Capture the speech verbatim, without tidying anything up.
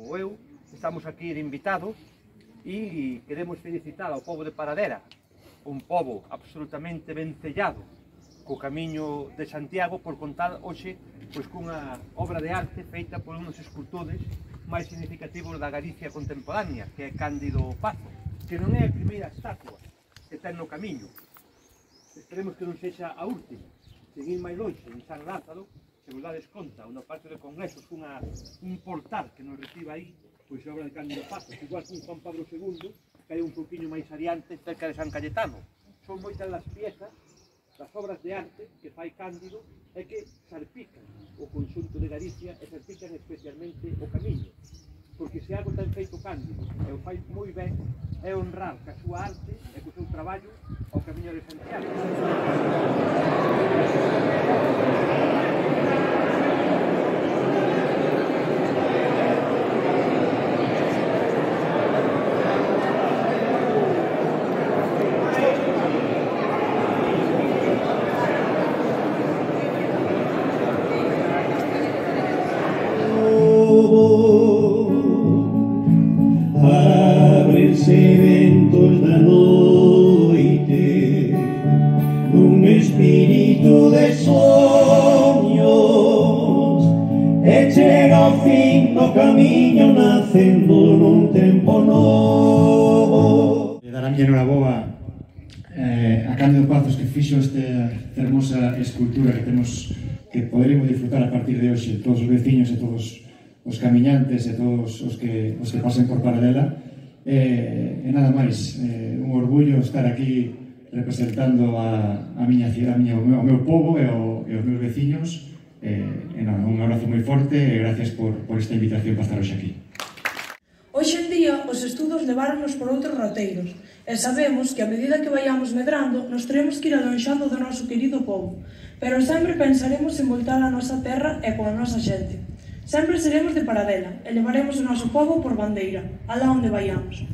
ou eu, estamos aquí de invitados e queremos felicitar ao pobo de Paradera, un pobo absolutamente vencellado co camiño de Santiago, por contar hoxe pois, cunha obra de arte feita por uns escultores máis significativos da Galicia contemporánea, que é Cándido Pazo, que non é a primeira estatua que ten no camiño. Esperemos que non sexa a última. Seguir máis longe, en San Lázaro, se vos dades conta, no Patio de Congresos, unha, un portal que nos recibe aí, pois a obra de Cándido Pazo, igual que un Juan Pablo segundo, que hai un poquinho máis adiante, cerca de San Cayetano. Son moitas das piezas, das obras de arte que fai Cándido, é que salpican o conxunto de Galicia e salpican especialmente o camiño. Porque se algo ten feito Cándido, e o fai moi ben, é honrar ca súa arte e co seu traballo ao camiño de Santiago. Ábrense ventos da noite nun espírito de soños e chega ao fin do camiño nacendo nun tempo novo. Dar a miña enhoraboa eh, a Cándido Pazos que fixo esta hermosa escultura que temos que poderemos disfrutar a partir de hoxe todos os veciños e todos os camiñantes e todos os que, os que pasen por Paradela. E, e nada máis, eh, un orgullo estar aquí representando a, a miña cidade, a miña, o, meu, o meu povo e, o, e os meus veciños. E, e nada, un abrazo moi forte e gracias por, por esta invitación para estar hoxe aquí. Hoxe en día, os estudos leváronos por outros roteiros e sabemos que a medida que vayamos medrando nos teremos que ir alonxando do noso querido povo, pero sempre pensaremos en voltar á nosa terra e coa nosa xente. Sempre seremos de Paradela e levaremos o noso pobo por bandeira, alá onde vayamos.